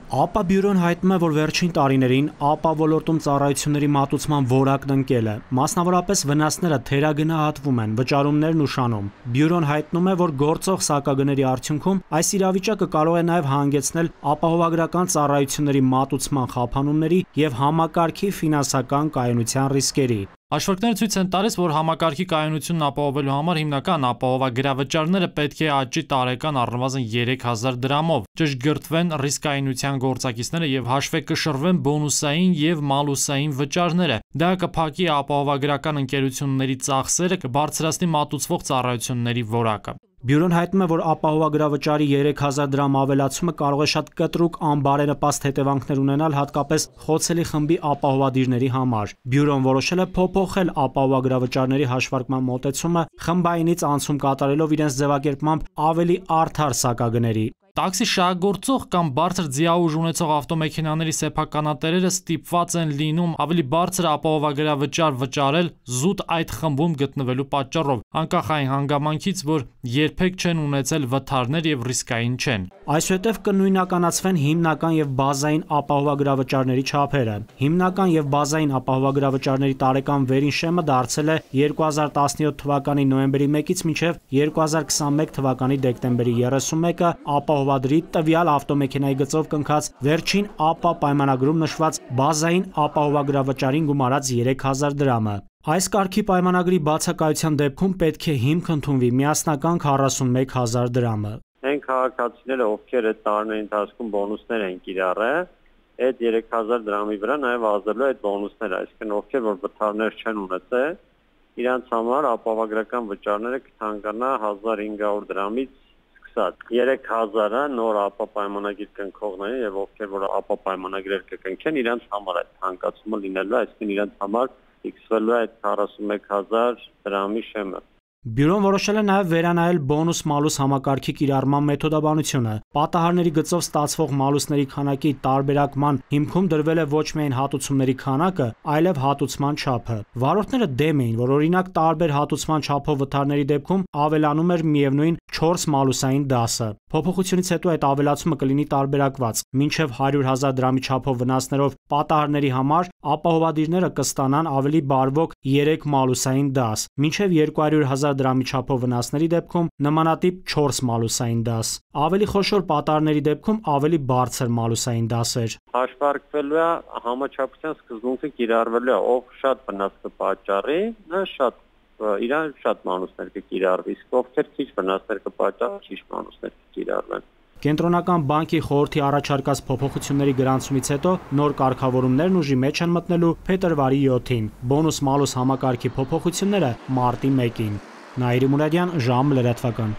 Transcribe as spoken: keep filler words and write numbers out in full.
ԱՊԱ բյուրոն հայտնում է, որ վերջին տարիներին ԱՊԱ ոլորտում ծառայությունների մատուցման որակն ընկել է, մասնավորապես վնասները թերագնահատվում են, վճարումներն ուշանում։ Բյուրոն հայտնում է, որ գործող սակագների արդյունքում այս իրավիճակը կարող է նաև հանգեցնել ապահովագրական ծառայությունների մատուցման խափանումների և համակարգի ֆինանսական կայունության ռիսկերի։ Հաշվարկները ցույց են տալիս, որ համակարգի կայունությունն ապահովելու համար հիմնական ապահովագրավճարները պետք է աճի տարեկան առնվազն երեք հազար դրամով, ճշգրտվեն ռիսկայունության գործակիցները և հաշվեկշռվեն բոնուսային և մալուսային վճարները։ Դա կփակի ապահովագրական ընկերությունների ծախսերը, կբարձրացնի մատուցվող ծառայությունների որակը։ Բյուրոն հայտնում է, որ ապահովագրավճարի երեք հազար դրամ ավելացումը կարող է շատ կտրուկ անբարենպաստ հետևանքներ ունենալ հատկապես խոցելի խմբի ապահովադիրների համար։ Բյուրոն որոշել է փոփոխել ապահովագրավճարների հաշվարկման մոտեցումը, խմբայինից անցում կատարելով իրենց ձևակերպմամբ ավելի արդար սակագների։ Տաքսի շահագործող կամ բարձր ձիաուժ ունեցող ավտոմեքենաների սեփականատերերը ստիպված են լինում ավելի բարձր ապահովագրավճար վճարել զուտ այդ խմբում գտնվելու պատճառով, անկախ այն հանգամանքից, որ երբեք չեն ունեցել վթարներ և ռիսկային չեն։ Այսուհետև կնույնականացվեն հիմնական և բազային ապահովագրավճարների չափերը։ Հիմնական և բազային ապահովագրավճարների տարեկան վերին շեմը դարձել է երկու հազար տասնյոթ թվականի նոյեմբերի մեկից մինչև երկու հազար քսաներկու թվականի դեկտեմբերի երեսունմեկը ապահովադրի տվյալ ավտոմեքենայի գծով կնքած վերջին ԱՊԱ պայմանագրում նշված բազային ապահովագրավճարին գումարած երեք հազար դրամը։ Այս կարգի պայմանագրի բացակայության դեպքում պետք է հիմք ընդունվի միասնական քառասունմեկ հազար դրամը։ Այն քաղաքացիները, ովքեր այդ տարիների ընթացքում բոնուսներ են կիրառել, այդ երեք հազար դրամի վրա նաև ազդելու այդ բոնուսները, այսինքն ովքեր որ վթարներ չեն ունեցել, իրանց համար ապահովագրական վճարները կթանկանա հազար հինգ հարյուր դրամից սկսած։ երեք հազարը նոր ԱՊԱ պայմանագիր կնքողների եւ ովքեր որ ԱՊԱ պայմանագրեր կկնքեն, իրանց համար այդ թանկացումը լինելու է, այսինքն իրանց համար ֆիքսվելու է այդ քառասունմեկ հազար դրամի շեմը։ Բյուրոն որոշել է նաև վերանայել բոնուս-մալուս համակարգի կիրառման մեթոդաբանությունը։ Պատահարների գծով ստացվող մալուսների քանակի տարբերակման հիմքում դրվել է ոչ միայն հատուցումների քանակը, այլև հատուցման չափը։ Վարորդները դեմ էին, որ օրինակ տարբեր հատուցման չափով վթարների դեպքում ավելանում էր միևնույն չորս մալուսային դասը։ Փոփոխությունից հետո այդ ավելացումը կլինի տարբերակված։ Մինչև հարյուր հազար դրամի չափով վնասներով պատահարների համար ապահովադիրները կստանան ավելի բարվոք երեք մալուսային դաս, մինչև երկու հարյուր հազար դրամի չափով վնասների դեպքում նմանատիպ չորս մալուսային դաս։ Ավելի խոշոր պատահարների դեպքում ավելի բարձր մալուսային դասեր։ Հաշվարկվելու է համաչափության սկզբունքը կիրառվելու է, ով շատ վնաս կպատճառի, նա շատ իրան շատ մանուսներ կկիրառվի, իսկ ովքեր քիչ վնասներ կպատճառեն, քիչ մանուսներ կկիրառվեն։ Կենտրոնական բանկի խորհրդի առաջարկած փոփոխությունների գրանցումից հետո նոր կարգավորումներն ուժի մեջ են մտնելու փետրվարի յոթին, բոնուս-մալուս համակարգի փոփոխությունները՝ մարտի մեկին։ Նաիրի Մուրադյան, ժամ լրատվական։